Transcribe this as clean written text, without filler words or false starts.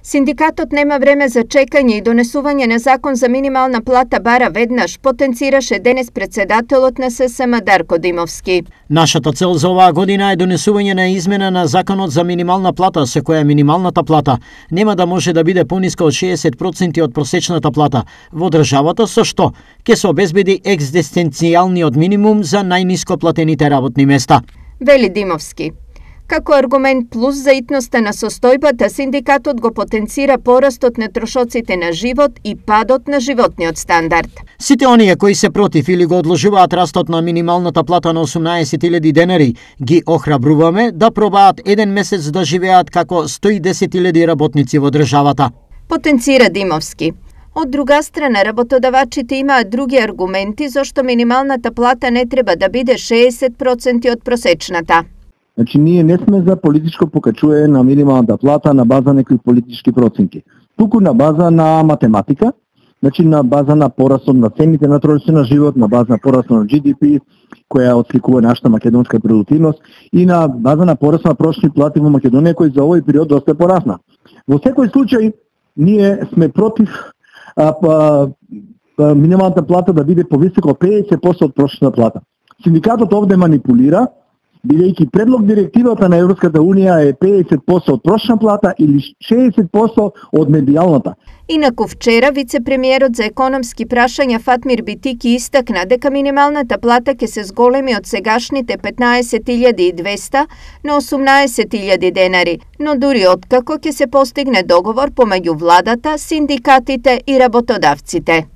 Синдикатот нема време за чекање и донесување на закон за минимална плата бара веднаш, потенцираше денес председателот на ССМ Дарко Димовски. Нашата цел за оваа година е донесување на измена на законот за минимална плата, со која минималната плата нема да може да биде пониска од 60% од просечната плата во државата, со што ќе се обезбеди екзистенцијалниот минимум за најниско платените работни места. Вели Димовски. Како аргумент плюс за итноста на состојбата, синдикатот го потенцира порастот на трошоците на живот и падот на животниот стандард. Сите оние кои се против или го одложуваат растот на минималната плата на 18.000 денари, ги охрабруваме да пробаат еден месец да живеат како 110.000 работници во државата. Потенцира Димовски. Од друга страна, работодавачите имаат други аргументи зашто минималната плата не треба да биде 60% од просечната. Значи, ние не сме за политичко покачување на минималната плата на база некои политички проценти. Туку на база на математика, значи на база на порастот на цените на трошоци на живот, на база на порастот на GDP, која отсликува нашата македонска продуктивност, и на база на пораст на прошни плати во Македонија, кој за овој период доста порасна. Во секој случај, ние сме против минималната плата да биде повисока од 50% од прошната плата. Синдикатот овде манипулира, бидејќи предлог директивата на Европската Унија е 50% од прошна плата или 60% од медијалната. Инаку вчера вице-премиерот за економски прашања Фатмир Битики истакна дека минималната плата ќе се зголеми од сегашните 15.200 на 18.000 денари, но дури откако ќе се постигне договор помеѓу владата, синдикатите и работодавците.